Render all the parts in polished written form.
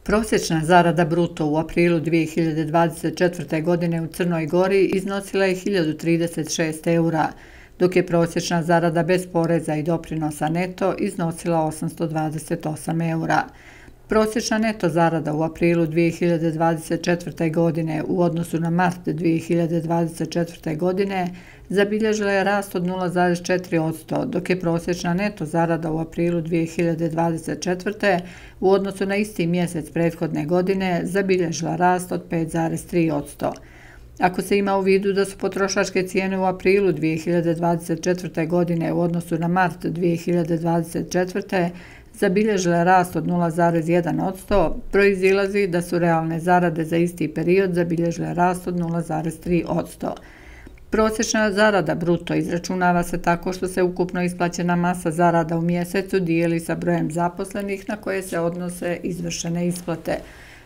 Prosječna zarada bruto u aprilu 2024. godine u Crnoj Gori iznosila je 1036 eura, dok je prosječna zarada bez poreza i doprinosa neto iznosila 828 eura. Prosječna neto zarada u aprilu 2024. godine u odnosu na mart 2024. godine zabilježila je rast od 0,4%, dok je prosječna neto zarada u aprilu 2024. u odnosu na isti mjesec prethodne godine zabilježila rast od 5,3%. Ako se ima u vidu da su potrošačke cijene u aprilu 2024. godine u odnosu na mart 2024. zabilježile rast od 0,1%, proizilazi da su realne zarade za isti period zabilježile rast od 0,3%. Prosječna zarada bruto izračunava se tako što se ukupno isplaćena masa zarada u mjesecu dijeli sa brojem zaposlenih na koje se odnose izvršene isplate.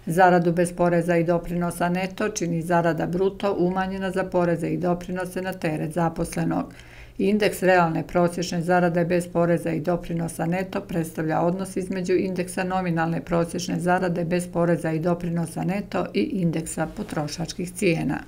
Zaradu bez poreza i doprinosa neto čini zarada bruto umanjena za poreze i doprinose na teret zaposlenog. Indeks realne prosječne zarade bez poreza i doprinosa neto predstavlja odnos između indeksa nominalne prosječne zarade bez poreza i doprinosa neto i indeksa potrošačkih cijena.